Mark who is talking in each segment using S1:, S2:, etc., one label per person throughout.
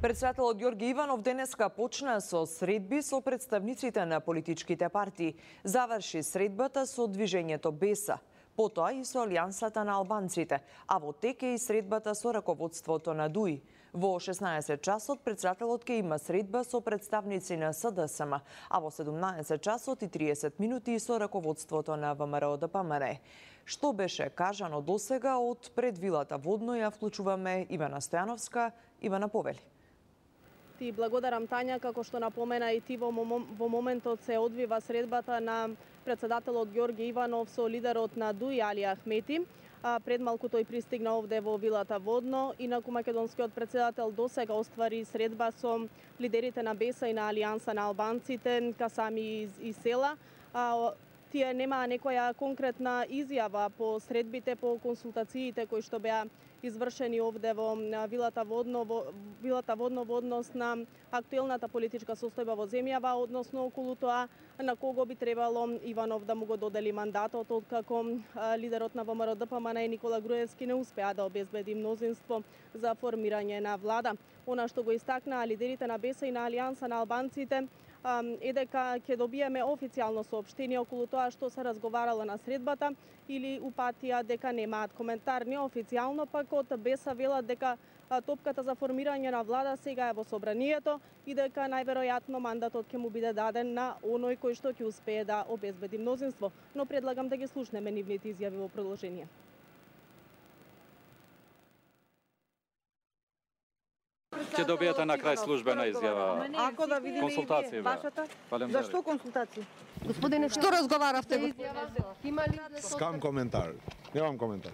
S1: Председателот Ѓорги Иванов денеска почна со средби со представниците на политичките партии. Заврши средбата со движењето Беса, потоа и со Алијансата на албанците, а во тек е и средбата со раководството на ДУИ. Во 16 часот председателот ќе има средба со представници на СДСМ, а во 17 часот и 30 минути со раководството на ВМРО-ДПМНЕ. Што беше кажано досега од пред вилата Водно, ја вклучуваме Ивана Стојановска. Ивана, повели.
S2: Ти благодарам, Тања, како што напомена и ти, во моментот се одвива средбата на председателот Ѓорги Иванов со лидерот на ДУИ Али Ахмети. Пред малку тој пристигна овде во вилата Водно. Инаку македонскиот председател досега оствари средба со лидерите на Беса и на Алијанса на албанците, Касами и Села. Тие немаа некоја конкретна изјава по средбите, по консултациите кои што беа извршени овде во вилата Водно во однос на актуелната политичка состојба во земјава, односно околу тоа на кого би требало Иванов да му го додели мандатот, откако лидерот на ВМРО-ДПМНЕ Никола Груевски не успеа да обезбеди мнозинство за формирање на влада. Она што го истакнаа лидерите на Беса и на Алијанса на албанците е дека ќе добиеме официјално соопштение околу тоа што се разговарало на средбата, или упатија дека немаат коментар. Неофицијално пак од Беса велат дека топката за формирање на влада сега е во собранието и дека најверојатно мандатот ќе му биде даден на оној кој што ќе успее да обезбеди мнозинство. Но предлагам да ги слушнеме нивните изјави во продолжение.
S3: Ќе добиете на крај службена изјава.
S2: Ако да видиме
S3: консултација,
S2: вашата. Зашто консултации?
S4: Господине, што разговаравте? Има ли
S5: Скам коментар. Немам коментар.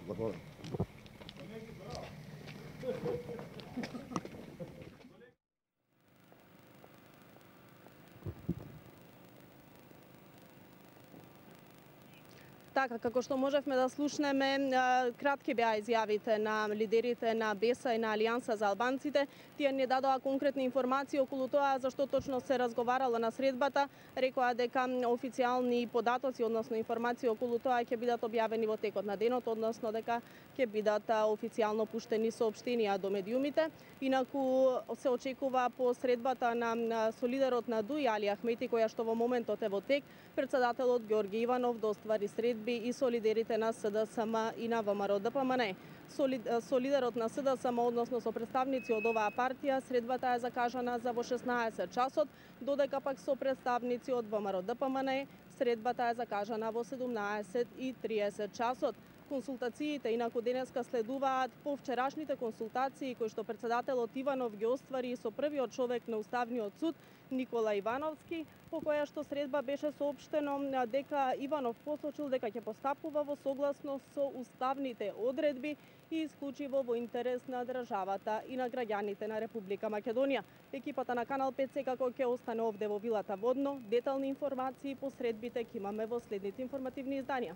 S2: Така, како што можевме да слушнеме, кратки беа изјавите на лидерите на Беса и на Алијанса за албанците. Тие не дадоа конкретни информации околу тоа зашто точно се разговарало на средбата. Рекоа дека официјални податоци, односно информации околу тоа ќе бидат објавени во текот на денот, односно дека ќе бидат официјално пуштени соопштенија до медиумите. Инаку се очекува по средбата со лидерот на ДУИ Али Ахмети, која што во моментот е во тек, председателот Ѓорги Иванов да оствари средби и со лидерите на СДСМ и на ВМРО-ДПМНЕ. Со лидерот на СДСМ, односно со представници од оваа партија, средбата е закажана за во 16 часот, додека пак со представници од ВМРО-ДПМНЕ средбата е закажана во 17:30 часот. Консултациите инаку денеска следуваат по вчерашните консултации кои што председателот Иванов ги оствари со првиот човек на Уставниот суд Никола Ивановски, по која што средба беше соопштено дека Иванов посочил дека ќе постапува во согласност со уставните одредби и исклучиво во интерес на државата и на граѓаните на Република Македонија. Екипата на Канал 5 секако ќе остане овде во вилата Водно. Детални информации по средбите ќе имаме во следните информативни изданија.